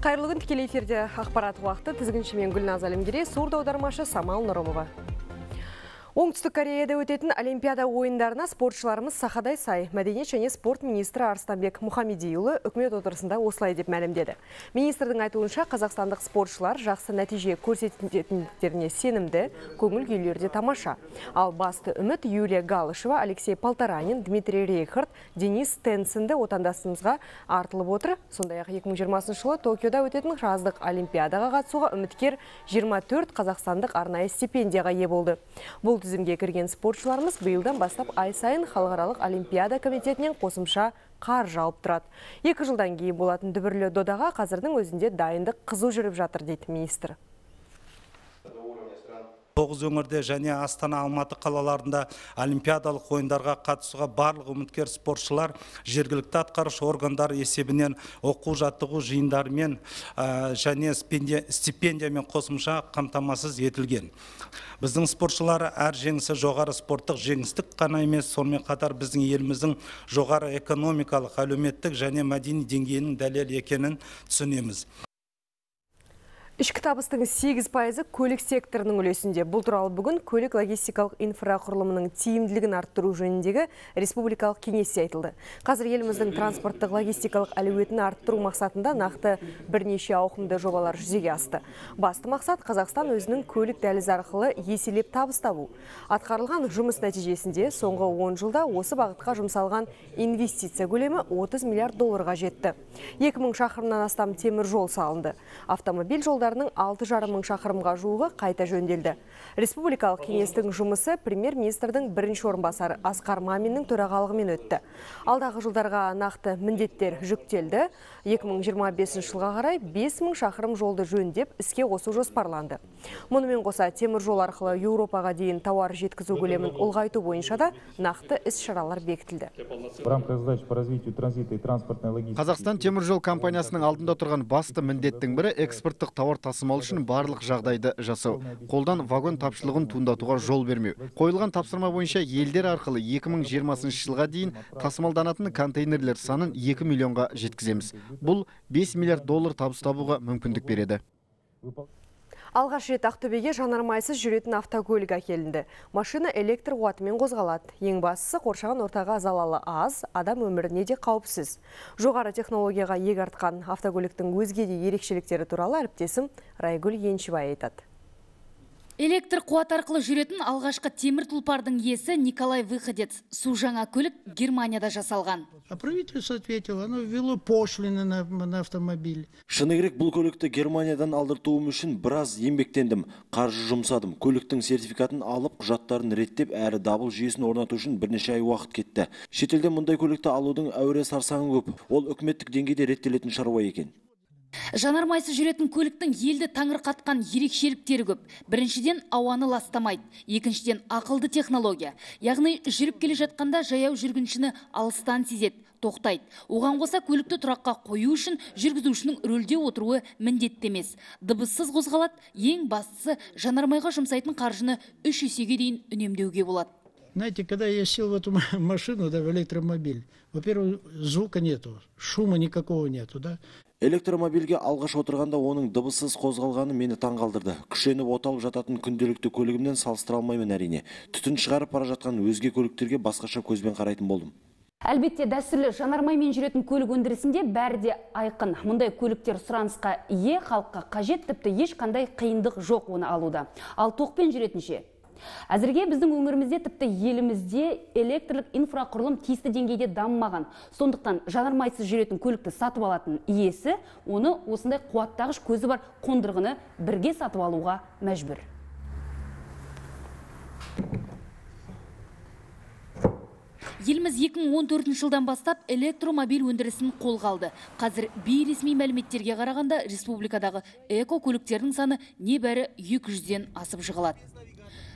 Қайырлы күн, тікелей эфирде ақпарат уақыты. Тізгіншімен Гүлназ Әлімгерей, сурда аудармашы Самал Нұрымова. Оңтүстік Кореяда өтетін Олимпиада ойындарына спортшыларымыз сақадай сай. Мәдениет және спорт министрі Арыстанбек Мұхамедиұлы үкімет отырысында осылай деп мәлімдеді. Министрдің айтуынша, қазақстандық спортшылар жақсы нәтиже көрсететіндіктеріне сенімді, көңіл күйлерде тамаша. Ал басты үміт Юлия Галышева, Алексей Полторанин, Дмитрий Рейхард, Денис Тенсінді отандасымызға артылып отыр. Сондай-ақ 2020 жылы Токиода өтетін жаздық Олимпиадаға қатысуға үміткер 24 қазақстандық арнайы стипендияға ие болды. Бұл тізімге кірген спортшыларымыз биылдан бастап ай сайын халықаралық Олимпиада комитетінен қосымша қаржы алып тұрады. 2 жылдан кейін болатын дүбірлі додаға қазірдің өзінде дайындық қызу жүріп жатыр дейді министр. 9 өңірде және Астана, Алматы қалаларында олимпиадалық ойындарға қатысуға барлық үміткер спортшылар жергілікті атқарушы органдар есебінен оқу жаттығу жиындарымен және стипендиямен қосымша қамтамасыз етілген. Біздің спортшылар әр жеңісі жоғары спорттық жеңістік қана емес, сонымен қатар біздің еліміздің жоғары экономикалық, әлеуметтік және мәдени деңгейінің дәлел екенін түсінеміз. Ішкі табыстың 8% көлік секторының үлесінде. Бұл туралы бүгін көлік логистикалық инфрақұрылымының тиімділігін арттыру жөніндегі республикалық кеңесте айтылды. Қазір еліміздің транспорттық логистикалық әлеуетін арттыру мақсатында нақты бірнеше ауқымды жобалар жүзеге асты. Басты мақсат Қазақстан өзінің көлік дәлізі арқылы еселеп табыс табу. Атқарылған жұмыс нәтижесінде соңғы 10 жылда осы бағытқа жұмсалған инвестиция көлемі 30 миллиард долларға жетті. 2000 шақырымнан астам темір жол салынды. Автомобиль жолдарының 6,5 мың шақырымға жуығы қайта жөнделді. Республикалық кеңестің жұмысы премьер-министрдің бірінші орынбасары Асқар Маминнің төрағалығымен өтті. Алдағы жылдарға нақты міндеттер жүктелді. 2025 жылға қарай 5000 шақырым жолды жөндеп іске қосу жоспарланды. Мұнымен қоса темір жол арқылы Еуропаға дейін тауар жеткізу көлемін ұлғайту бойынша да нақты іс-шаралар бекітілді. Қазақстан темір жол компаниясының алдында тұрған басты міндеттің бірі экспорттық тауар тасымал үшін барлық жағдайды жасау. Қолдан вагон тапшылығын туындатуға жол бермеу. Қойылған тапсырма бойынша елдер арқылы 2020 жылға дейін тасымалданатын контейнерлер санын 2 миллионға жеткіземіз. Бұл 5 миллиард доллар табыс табуға мүмкіндік береді. Алғаш рет Ақтөбеге жанармайсыз жүретін автокөлік әкелінді. Машина электр қуатымен қозғалады. Ең бастысы қоршаған ортаға залалы аз, адам өміріне де қауіпсіз. Жоғары технологияға иек артқан автокөліктің өзге де ерекшеліктері туралы әріптесім Райгүл Еншібай айтады. Электр қуат арқылы жүретін алғашқы темір тұлпардың иесі Николай Выходец. Су жаңа көлік Германияда жасалған. Правительство ответило, оно ввело пошлины на автомобиль. Шыны керек, бұл көлікті Германиядан алдыртуым үшін біраз еңбектендім, қаржы жұмсадым. Көліктің сертификатын алып, құжаттарын реттеп, әрі дабыл жүйесін орнату үшін бірнеше ай уақыт кетті. Шетелден мұндай көлікті алудың әуре сарсаңы көп. Ол үкіметтік деңгейде реттелетін шаруа екен. Жанармайсыз жүретін көліктің елді таңырқатқан ерекшеліктері көп. Біріншіден ауаны ластамайды, екіншіден ақылды технология. Яғни жүріп келе жатқанда жаяу жүргіншіні алыстан сезеді, тоқтайды. Оған қоса көлікті тұраққа қою үшін жүргізушінің рөлде отыруы міндетті емес. Дыбыссыз қозғалады, ең бастысы жанармайға жұмсайтын қаржыны 3 есеге дейін үнемдеуге болады. Знаете, когда я сел в эту машину, в электромобиль, во-первых, звука нету, шума никакого нету, да? Электромобильге алғаш отырғанда оның дыбыссыз қозғалғаны мені таңғалдырды. Күшеніп оталып жататын күнделікті көлігімнен салыстыра алмаймын әрине. Түтін шығарып бара жатқан өзге көліктерге басқаша көзбен қарайтын болдым. Әлбетте дәстүрлі жанармаймен жүретін көлік өндірісінде бәрі де айқын. Мұндай көліктер сұранысқа ие, халыққа қажет, тіпті ешқандай қиындық жоқ оны алуда. Ал тоқпен жүретінше. Әзірге біздің өңірімізде тіпті елімізде электрлік инфрақұрылым тиісті деңгейде дамымаған. Сондықтан жанармайсыз жүретін көлікті сатып алатын иесі оны осындай қуаттағыш көзі бар қондырғыны бірге сатып алуға мәжбүр. Еліміз 2014 жылдан бастап электромобиль өндірісін қолға алды. Қазір бейресми мәліметтерге қарағанда республикадағы эко көліктердің саны небәрі 200-ден асып жығылады.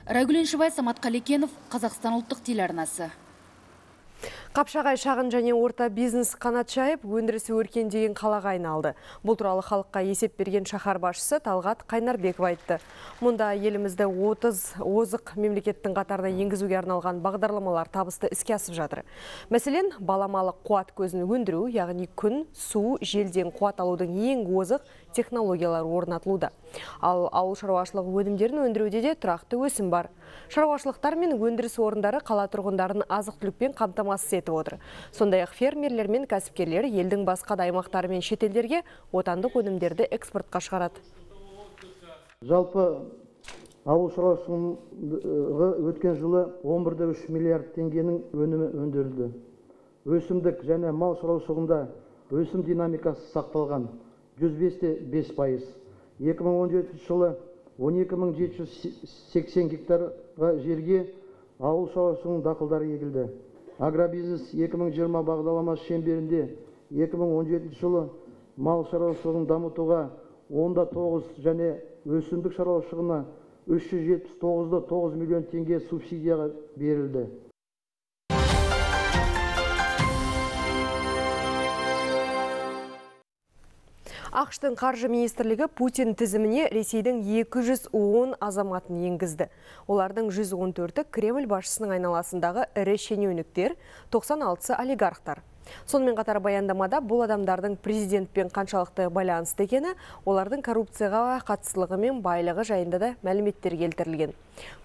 Райгүл Еншібай, Самат Қалекенов, Қазақстан ұлттық телеарнасы. Қапшағай шағын және орта бизнес қанат жайып, өндірісі өркендеген қалаға айналды. Бұл туралы халыққа есеп берген шаһар басшысы Талғат Қайнарбеков айтты. Мұнда елімізді 30 озық мемлекеттің қатарына енгізуге арналған бағдарламалар табысты іске асып жатыр. Мәселен, баламалы қуат көзін өндіру, яғни күн, су, желден қуат алудың ең озық технологиялар орнатылуда. Ал ауыл шаруашылығы өнімдерін өндіруде де тұрақты өсім бар. Шаруашылықтар мен өндіріс орындары қала тұрғындарын азық-түлікпен қамтамасыз етіп отыр. Сондай-ақ фермерлер мен кәсіпкерлер елдің басқа да аймақтары мен шетелдерге отандық өнімдерді экспортқа шығарады. Жалпы ауыл шаруашылығы өткен жылы 11,3 миллиард теңгенің өнімі өндірілді. Өсімдік және мал шаруашылығында өсім динамикасы сақталған 105,5%. 2017 жылы 12.780 гектарға жерге ауыл шаруашылығының дақылдары егілді. Агробизнес 2020 бағдарламасы шеңберінде 2017 жылы мал шаруашылығын дамытуға 10,9 және өсімдік шаруашылығына 379,9 миллион теңге субсидияға берілді. ақш-тың қаржы министрлігі Путин тізіміне Ресейдің 210 азаматын енгізді. Олардың 114-і Кремль басшысының айналасындағы ірі шенеуніктер, 96-сы олигархтар. Сонымен қатар баяндамада бұл адамдардың президентпен қаншалықты байланысты екені, олардың коррупцияға қатыстылығы мен байлығы жайында да мәліметтер келтірілген.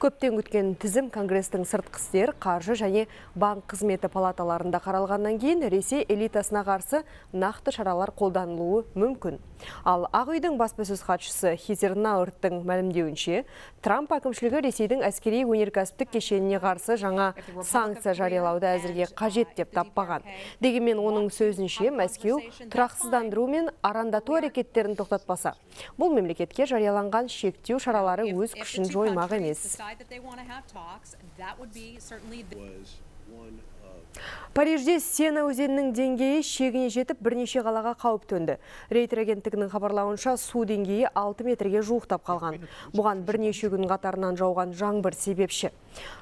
Көптен күткен тізім Конгрестің сыртқы істер, қаржы және банк қызметі палаталарында қаралғаннан кейін Ресей элитасына қарсы нақты шаралар қолданылуы мүмкін. Ал Ақ үйдің баспасөз хатшысы Хизер Наурттың мәлімдеуінше, Трамп әкімшілігі Ресейдің әскери өнеркәсіптік кешеніне қарсы жаңа санкция жариялауды әзірге қажет деп таппаған. Дегенмен оның сөзінше, Мәскеу тұрақсыздандыру мен арандату әрекеттерін тоқтатпаса, бұл мемлекетке жарияланған шектеу шаралары өз күшін жоймақ емес. Парижде Сена өзенінің деңгейі шегіне жетіп бірнеше қалаға қауіп төнді. Рейтер агенттігінің хабарлауынша су деңгейі 6 метрге жуықтап қалған. Бұған бірнеше күн қатарынан жауған жаңбыр себепші.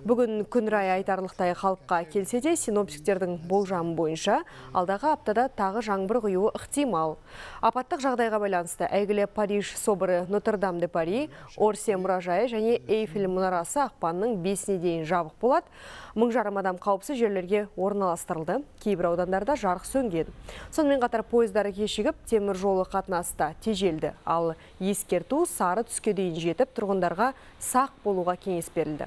Бүгін күн райы айтарлықтай қалыпқа келсе де, синоптиктердің болжамы бойынша алдағы аптада тағы жаңбыр құюы ықтимал. Апаттық жағдайға байланысты әйгілі Париж соборы Нотр-Дам-де-Пари, Орсе мұражайы және Эйфель мұнарасы ақпанның 5-не дейін жабық болады. 1000 жарым адам қауіпсіз жерлерге орналастырылды. Кейбір аудандарда жарық сөнген. Сонымен қатар пойыздары кешігіп, темір жолы қатынаста тежелді. Ал ескерту сары түске дейін жетіп, тұрғындарға сақ болуға кеңес берілді.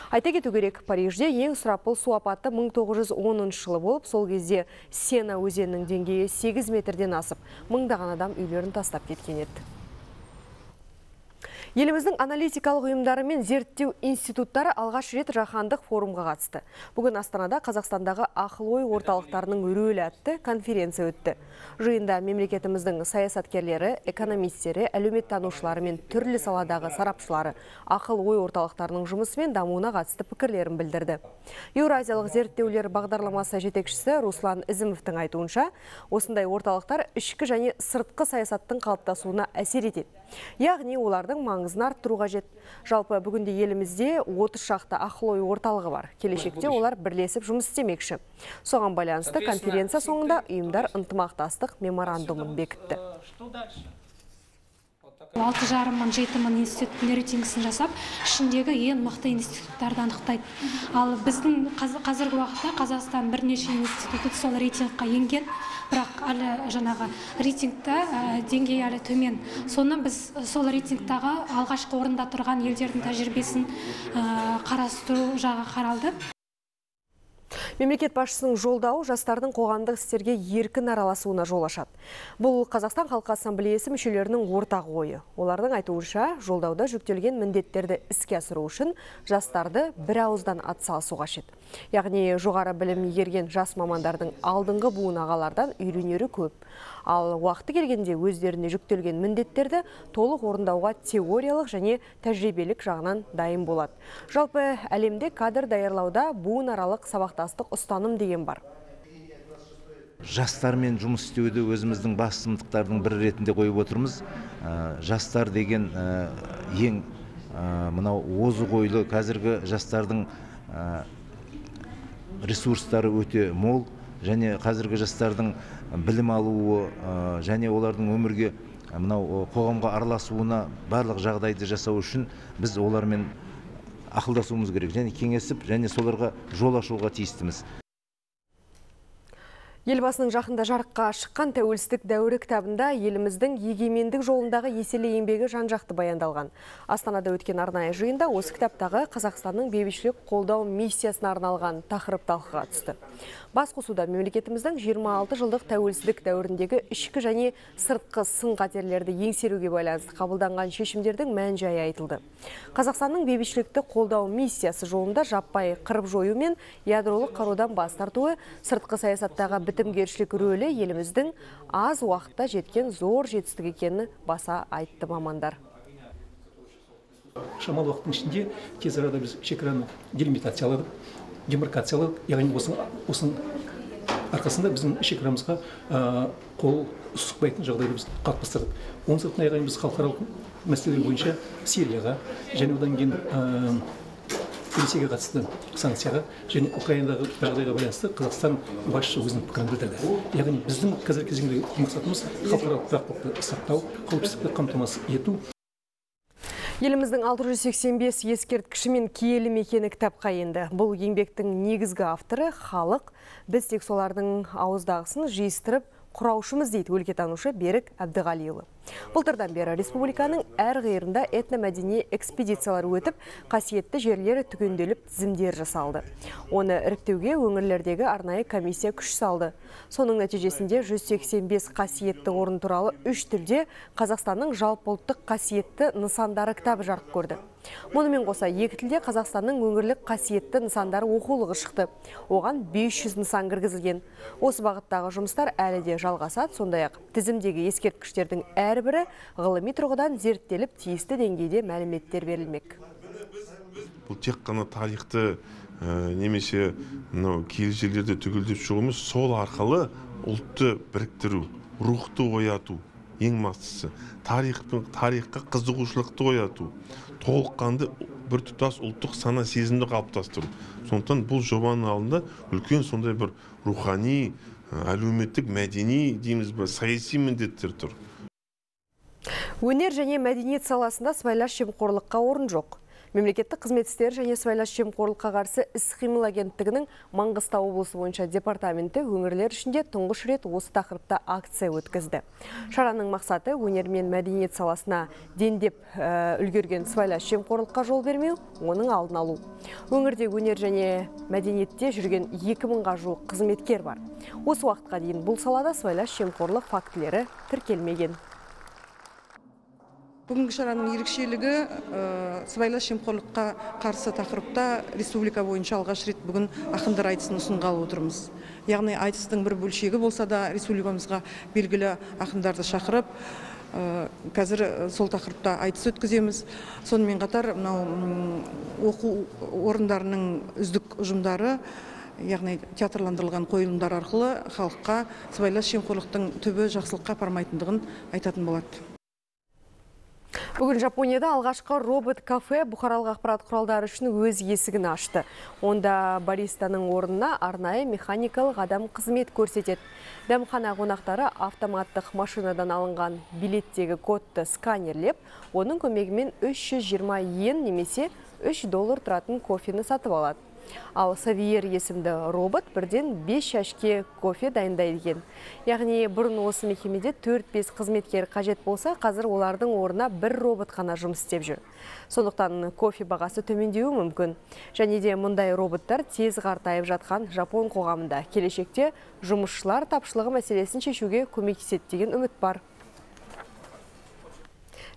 Айта кету керек, Парижде ең сұрапыл су апаты 1910 жылы болып, сол кезде Сена өзенінің деңгейі 8 метрден асып, мыңдаған адам үйлерін тастап кеткен еді. Еліміздің аналитикалық ұйымдары мен зерттеу институттары алғаш рет жаһандық форумға қатысты. Бүгін Астанада Қазақстандағы ақыл-ой орталықтарының рөлі атты конференция өтті. Жиында мемлекетіміздің саясаткерлері, экономистері, әлеуметтанушылары мен түрлі саладағы сарапшылары ақыл-ой орталықтарының жұмысы мен дамуына қатысты пікірлерін білдірді. Еуразиялық зерттеулер бағдарламасы жетекшісі Руслан Ізімовтің айтуынша, осындай орталықтар ішкі және сыртқы саясаттың қалыптасуына әсер етеді. Яғни олардың маңызын арттыру қажет. Жалпы бүгінде елімізде 30 шақты ақыл-ой орталығы бар. Келешекте олар бірлесіп жұмыс істемекші. Соған байланысты конференция соңында ұйымдар ынтымақтастық меморандумын бекітті. 6,5-7 мың институттың рейтингісін жасап, ішіндегі ең мықты институттарды анықтайды. Ал біздің қазіргі уақытта Қазақстан бірнеше институты сол рейтингқа енген, бірақ әлі жаңағы рейтингта деңгейі әлі төмен. Соны біз сол рейтингтағы алғашқы орында тұрған елдердің тәжірибесін қарастыру жағы қаралды. Мемлекет басшысының жолдауы жастардың қоғамдық істерге еркін араласуына жол ашады. Бұл Қазақстан Халқы Ассамблеясы мүшелерінің ортақ ойы. Олардың айтуынша, жолдауда жүктелген міндеттерді іске асыру үшін жастарды бір ауыздан атсалысу қажет. Яғни жоғары білім игерген жас мамандардың алдыңғы буын ағалардан үйренері көп. Ал уақыты келгенде өздеріне жүктелген міндеттерді толық орындауға теориялық және тәжірибелік жағынан дайын болады. Жалпы әлемде кадр даярлауда буынаралық сабақтастық ұстаным деген бар. Жастармен жұмыс істеуді өзіміздің басымдықтардың бірі ретінде қойып отырмыз. Жастар деген ең мынау озық ойлы қазіргі жастардың ресурстары өте мол, және қазіргі жастардың білім алуы және олардың өмірге мынау қоғамға араласуына барлық жағдайды жасау үшін біз олармен ақылдасуымыз керек, және кеңесіп, және соларға жол ашуға тиістіміз. Елбасының жақында жарыққа шыққан тәуелсіздік дәуірі кітабында еліміздің егемендік жолындағы еселі еңбегі жан-жақты баяндалған. Астанада өткен арнайы жиында осы кітаптағы Қазақстанның бейбітшілік қолдау миссиясына арналған тақырып талқыға түсті. Басқосуда мемлекетіміздің 26 жылдық тәуелсіздік дәуіріндегі ішкі және сыртқы сын-қатерлерді еңсеруге байланысты қабылданған шешімдердің мән-жайы айтылды. Қазақстанның бейбітшілікті қолдау миссиясы жолында жаппай қырып жою мен ядролық қарудан бас тартуы, сыртқы саясаттағы бітімгершілік рөлі еліміздің аз уақытта жеткен зор жетістік екенін баса айтты мамандар. Шамалы уақыттың ішінде тез арада біз шекараны делимитацияладық, демаркацияладық, яғни осының арқасында біздің шекарамызға қол сұқпайтын жағдайды біз қалыптастырдық. Оның сыртына яғни біз халықаралық мәселелер бойынша Сирияға және одан кейін Ресейге қатысты санкцияға және Украинадағы жағдайға байланысты Қазақстан басшысы өзінің пікірін білдірді. Яғни біздің қазіргі кезеңдегі мақсатымыз халықаралық тұрақтылықты сақтау, қауіпсіздікті қамтамасыз ету. Еліміздің 685 ескерткіші мен киелі мекені кітапқа енді. Бұл еңбектің негізгі авторы халық, біз тек солардың ауыздағысын жиыстырып құраушымыз дейді өлкетанушы Берік Әбдіғалиұлы. Былтырдан бері республиканың әр қиырында этномәдени экспедициялар өтіп, қасиетті жерлері түгенделіп тізімдер жасалды. Оны іріктеуге өңірлердегі арнайы комиссия күш салды. Соның нәтижесінде 185 қасиетті орын туралы 3 тілде Қазақстанның жалпыұлттық қасиетті нысандары кітабы жарық көрді. Мұнымен қоса екі тілде Қазақстанның өңірлік қасиетті нысандары оқулығы шықты. Оған 500 нысан кіргізілген. Осы бағыттағы жұмыстар әлі де жалғасады, сондай-ақ тізімдегі ескерткіштердің әрбірі ғылыми тұрғыдан зерттеліп, тиісті деңгейде мәліметтер берілмек. Бұл тек қана тарихты немесе киелі жерлерді түгелдеп шығу емес, сол арқылы ұлтты біріктіру, рухты ояту ең бастысы. Тарихқа қызығушылықты ояту, толыққанды біртұтас ұлттық сана сезімді қалыптастыру. Сондықтан бұл жобаның алдында үлкен сондай бір рухани, әлеуметтік, мәдени, дейміз бе, саяси міндеттер тұр. Өнер және мәдениет саласында сыбайлас жемқорлыққа орын жоқ. Мемлекеттік қызмет істері және сыбайлас жемқорлыққа қарсы іс-қимыл агенттігінің Маңғыстау облысы бойынша департаменті өңірлер ішінде тұңғыш рет осы тақырыпта акция өткізді. Шараның мақсаты өнер мен мәдениет саласына дендеп үлгерген сыбайлас жемқорлыққа жол бермеу, оның алдын алу. Өңірде өнер және мәдениетте жүрген 2000-ға жуық қызметкер бар. Осы уақытқа дейін бұл салада сыбайлас жемқорлық фактілері тіркелмеген. Бүгінгі шараның ерекшелігі сыбайлас жемқорлыққа қарсы тақырыпта республика бойынша алғаш рет бүгін ақындар айтысын ұсынғалы отырмыз. Яғни айтыстың бір бөлшегі болса да республикамызға белгілі ақындарды шақырып, қазір сол тақырыпта айтыс өткіземіз. Сонымен қатар оқу орындарының үздік ұжымдары, яғни театрландырылған қойылымдар арқылы халыққа сыбайлас жемқорлықтың түбі жақсылыққа апармайтындығын айтатын болады. Бүгін Жапонияда алғашқы робот-кафе бұқаралық ақпарат құралдары үшін өз есігін ашты. Онда баристаның орнына арнайы механикалық адам қызмет көрсетеді. Дәмхана қонақтары автоматтық машинадан алынған билеттегі кодты сканерлеп, оның көмегімен 320 йен немесе $3 тұратын кофені сатып алады. Ал Савиер есімді робот бірден 5 шәшке кофе дайындайды екен. Яғни бұрын осы мекемеде 4-5 қызметкер қажет болса, қазір олардың орнына бір робот қана жұмыс істеп жүр. Сондықтан кофе бағасы төмендеуі мүмкін. Және де мұндай роботтар тез қартайып жатқан Жапон қоғамында келешекте жұмысшылар тапшылығы мәселесін шешуге көмектеседі деген үміт бар.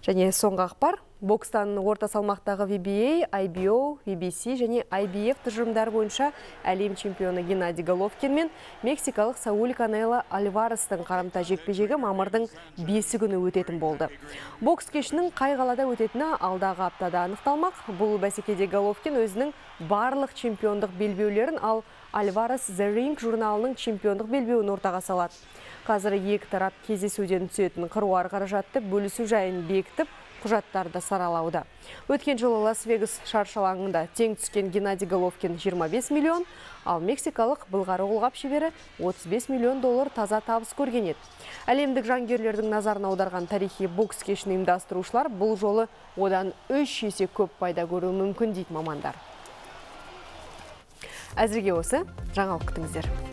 Және соңғы ақпар, бокстан орта салмақтағы WBA, IBO, WBC және IBF тұжырымдары бойынша әлем чемпионы Геннадий Головкин мен мексикалық Сауль Канело Альварестің қарымта жекпе-жегі мамырдың 5 күні өтетін болды. Бокс кешінің қай қалада өтетіні алдағы аптада анықталмақ. Бұл бәсекеде Головкин өзінің барлық чемпиондық белбеулерін, ал Альварес The Ring журналының чемпиондық белбеуін ортаға салады. Қазір екі тарап кездесуден түсетін қыруар қаражатты бөлісу жайын бекітіп, құжаттарды саралауда. Өткен жылы Лас-Вегас шаршы алаңында тең түскен Геннадий Головкин 25 миллион, ал мексикалық былғары қолғап шебері 35 миллион доллар таза табыс көрген еді. Әлемдік жангерлердің назарын аударған тарихи бокс кешін ұйымдастырушылар бұл жолы одан 3 есе көп пайда көруі мүмкін дейді мамандар. Әзірге осы, жаңалық күтіңіздер.